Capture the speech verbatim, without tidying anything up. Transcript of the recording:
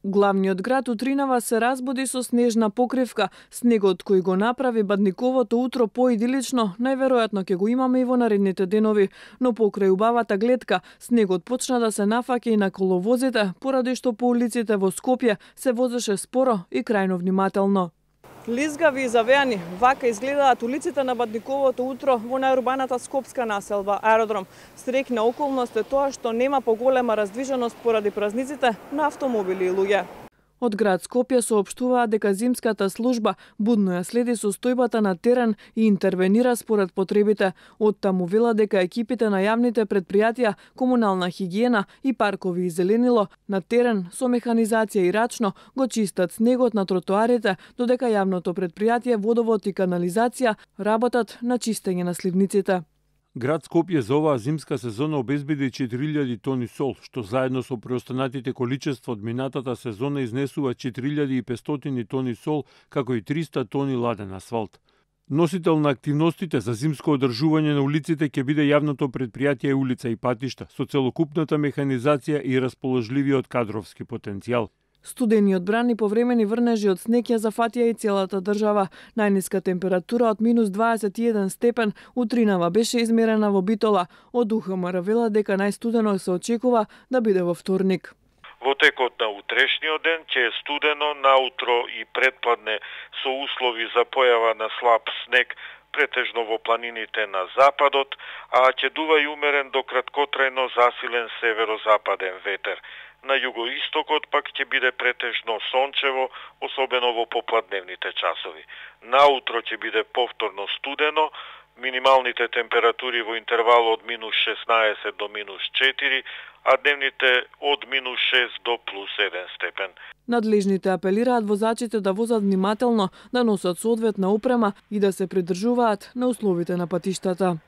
Главниот град Утринава се разбуди со снежна покривка. Снегот кој го направи бадниковото утро поидилично, најверојатно ќе го имаме и во наредните денови. Но покрај убавата гледка, снегот почна да се нафаќа и на коловозите, поради што по улиците во Скопје се возеше споро и крајно внимателно. Лизгави и завеани, вака изгледаат улиците на бадниковото утро во најурбаната скопска населба Аеродром. Среќна околност е тоа што нема поголема раздвиженост поради празниците на автомобили и луѓе. Од град Скопје соопштуваат дека зимската служба будно ја следи состојбата на терен и интервенира според потребите. Од таму вела дека екипите на јавните предпријатија, комунална хигиена и паркови и зеленило на терен со механизација и рачно го чистат снегот на тротоарите, додека јавното предпријатие Водовод и канализација работат на чистење на сливниците. Град Скопје за оваа зимска сезона обезбеди четири илјади тони сол, што заедно со преостанатите количества од минатата сезона изнесува четири илјади и петстотини тони сол, како и триста тони ладен асфалт. Носител на активностите за зимско одржување на улиците ќе биде јавното предпријатие Улица и патишта, со целокупната механизација и расположливиот кадровски потенцијал. Студениот бран и повремени врнежи од снег ја зафатија и целата држава. Најниска температура од минус дваесет и еден степен Утринава беше измерена во Битола. Од У Х М Р вела дека најстудено се очекува да биде во вторник. Во текот на утрешниот ден ќе е студено, наутро и предпладне со услови за појава на слаб снег, претежно во планините на западот, а ќе дува и умерен до краткотрајно засилен северозападен ветер. На југоистокот пак ќе биде претежно сончево, особено во попладневните часови. Наутро ќе биде повторно студено, минималните температури во интервал од минус шеснаесет до минус четири, а дневните од минус шест до плюс еден степен. Надлежните апелираат возачите да возат внимателно, да носат соодветна опрема и да се придржуваат на условите на патиштата.